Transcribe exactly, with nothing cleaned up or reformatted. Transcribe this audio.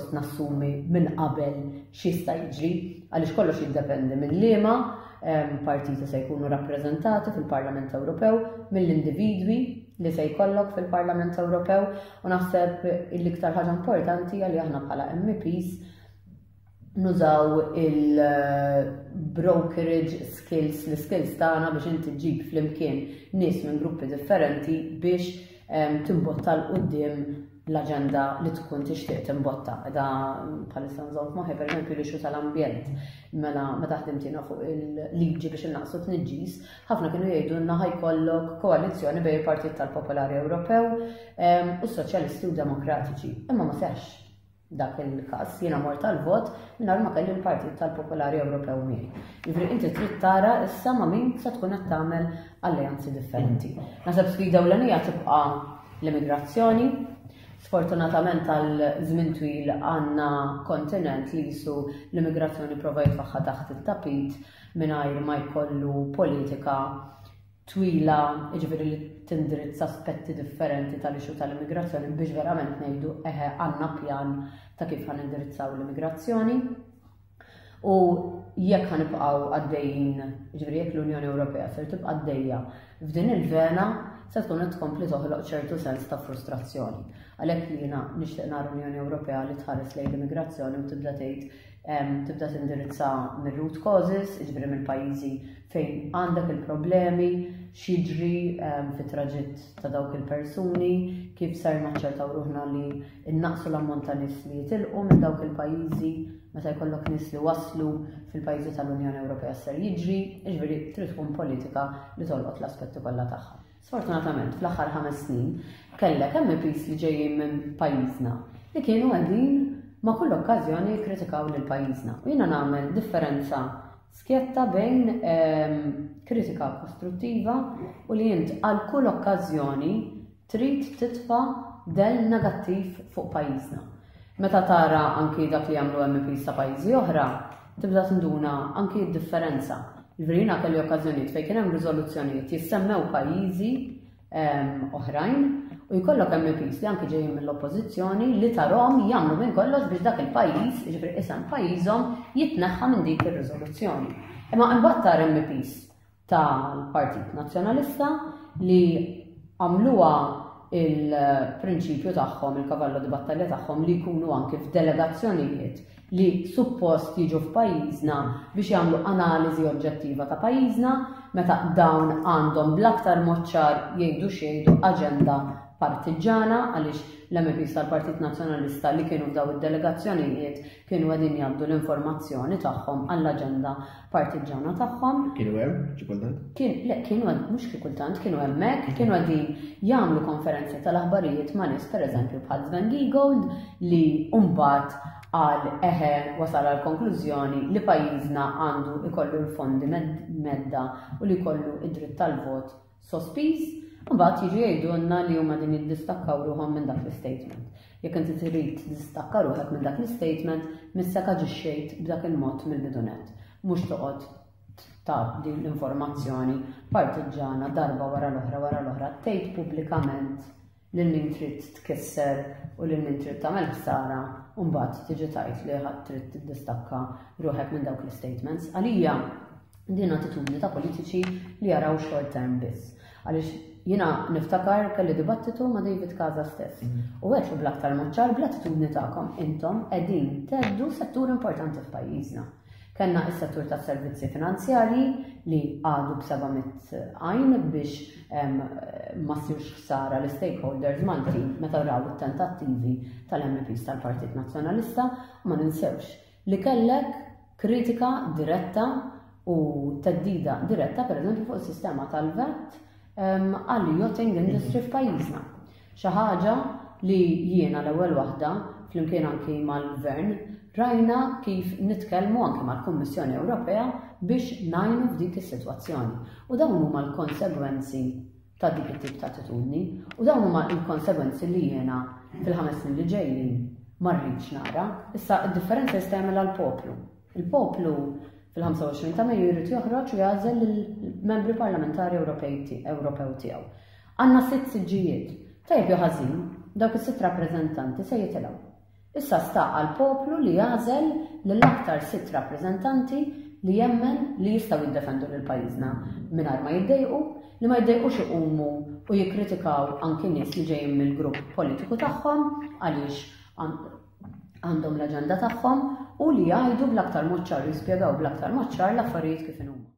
pjuttost nassumi minn qabel x'jista' jiġri, għaliex kollox jiddependi minn liema partiti se jkunu rappreżentati fil-Parlament Ewropew, mill-individwi li se jkollok fil-Parlament Ewropew, u naħseb l-iktar ħaġa importanti li aħna bħala M Ps nużaw il-brokerage skills, l-skills tagħna biex inti ġġib flimkien nies minn gruppi differenti biex timbotta 'l quddiem l-aġenda li tkun tixtieq timbotta. Eda bħalissa nżomm f'moħħi, pereżempju, l-issue tal-ambjent. Mela meta ħdimt jiena fuq il-liġi biex innaqsu tniġġis, ħafna kienu jgħidulna ħa jkollok koalizzjoni bejn il-Partit tal-Popolari Ewropew u s-Soċjalisti u Demokratiċi. Imma ma seħx dak il-każ, jiena mort tal-vot mingħajr ma kelli l-Partit tal-Popolari Ewropew miegħi. Jiġifieri inti trid tara issa ma' min se tkun qed tagħmel alleanzi differenti. Naħseb sfida ewlenija tibqa' l-immigrazzjoni. Sfortunatament għal żmien twil għandna kontinent li jisu l-immigrazzjoni prova jitfagħha taħt it-tapit mingħajr ma jkollu politika twila, jiġifieri li tindirizza aspetti differenti tal-issue tal-immigrazzjoni biex verament ngħidu eħe, għandna pjan ta' kif ħa nindirizzaw l-immigrazzjoni. U jekk ħa nibqgħu għaddejjin, jiġifieri jekk l-Unjoni Ewropea ser tibqa' għaddejja f'din il-vena, se tkun qed tkompli toħloq ċertu sens ta' frustrazzjoni. Għalhekk jiena nixtieq nara Unjoni Ewropea li tħares lejn l-immigrazzjoni u tibda tgħid, tibda tindirizza mir-root causes, jiġifieri mill-pajjiżi fejn għandek il-problemi, x'jiġri fit-traġitt ta' dawk il-persuni, kif ser naċċertaw ruħna li innaqsu l-ammont ta' nies li jitilqu minn dawk il-pajjiżi, meta jkollok nies li waslu fil-pajjiżi tal-Unjoni Ewropea ser jiġri, jiġifieri trid tkun politika li tolqot l-aspetti kollha tagħha. Sfortunatament, fl-aħħar ħames snin kellek M Ps li ġejjin minn pajjiżna li kienu qegħdin ma' kull okkażjoni jikkritikaw lil pajjiżna. U jiena nagħmel differenza skjetta bejn ehm, kritika kostruttiva u li int għal kull okkażjoni trid titfa' del negattiv fuq pajjiżna. Meta tara anki dak li jagħmlu M Ps ta' pajjiżi oħra, tibda tinduna anki d-differenza. Jiġifieri jiena kelli okkażjonijiet fejn kien hemm riżoluzzjonijiet jissemmew pajjiżi ehm, oħrajn u jkollok M Ps li anki ġejjin mill-oppożizzjoni li tarahom jagħmlu minn kollox biex dak il-pajjiż, jiġifieri isem pajjiżhom, jitneħħa minn dik ir-riżoluzzjoni. Imma imbagħad tara M Ps tal-Partit Nazzjonalista li għamluha il-prinċipju tagħhom, il-cavallo di battalja tagħhom, li jkunu anki f'delegazzjonijiet li suppost jiġu f'pajjiżna biex jagħmlu analiżi oġġettiva ta' pajjiżna, meta dawn għandhom bl-aktar mod ċar, jgħidu xejdu, aġenda partiġana, għaliex l-M Ps tal-Partit Nazzjonalista li kienu f'daw id-delegazzjonijiet kienu qegħdin jgħaddu l-informazzjoni tagħhom għall-aġenda partiġana tagħhom. Kienu hemm, xi kultant? Kien, le, kienu mhux xi kultant, kienu hemmhekk, kienu qegħdin jagħmlu konferenzi tal-aħbarijiet ma' nies, pereżempju, bħal Sven Giegold, li mbagħad għal eħe wasal għal konklużjoni li pajjiżna għandu ikollu l-fondi mhedda u li jkollu id-dritt tal-vot sospiż. Mbagħad jiġu jgħidulna li huma din jiddistakkaw ruħhom minn dak l-statement. Jekk inti trid tiddistakka ruħek minn dak l-statement, missek aġixxejt b'dak il-mod mill-bidu nett. Mhux toqgħod ta' din l-informazzjoni partiġana darba wara l-oħra wara l-oħra, tgħid pubblikament lil min trid tkisser u lil min trid tagħmel ħsara, u mbagħad tiġi tgħid li ħadd trid tiddistakka ruħek minn dawk l-statements. Għalija din attitudni ta' politiċi li jaraw short term biss. Għaliex jiena niftakar kelli dibattitu ma' David Casa stess. U għedtlu bl-aktar mod ċar, bl-attitudni tagħkom intom qegħdin thedddu settur importanti f'pajjiżna. Kellna is-settur tas servizzi finanzjarji li għadu b'seba' mitt għajn biex em, ma ssirx ħsara l-stakeholders Maltin meta raw it-tentattivi tal-M Ps tal-Partit Nazzjonalista, u ma ninsewx li kellek kritika diretta u theddida diretta, per eżempju, fuq is-sistema tal-VAT em, għall yachting industry f'pajjiżna. Xi ħaġa li jiena l-ewwel waħda, flimkien anki mal-Gvern, rajna kif nitkellmu anki mal-Kummissjoni Ewropea biex ngħinu f'dik is-sitwazzjoni. U dawn huma l-konsegwenzi ta' dik it-tip ta' attitudni u dawn huma l-konsegwenzi li jiena fil-ħames snin li ġejjin ma rridx nara. Issa id-differenza jista' jagħmilha l-poplu. Il-poplu fil-ħamsa u għoxrin ta' Mejju jrid joħroġ u jagħżel lill-membri parlamentari Ewropej Ewropew tiegħu. Għandna sitt siġġijiet. Tajjeb jew ħażin, dawk is-sitt rappreżentanti se jitilgħu. Issa sta għall-poplu li jagħżel lill-aktar sitt rappreżentanti li jemmen li jistgħu jiddefendu lil pajjiżna mingħajr ma jiddejqu, li ma jiddejqux iqumu u jikkritikaw anki nies li ġejjin mill-grupp politiku tagħhom għaliex għandhom l-aġenda tagħhom u li jgħidu bl-aktar mod ċar, jispjegaw bl-aktar mod ċar l-affarijiet kif inhuma.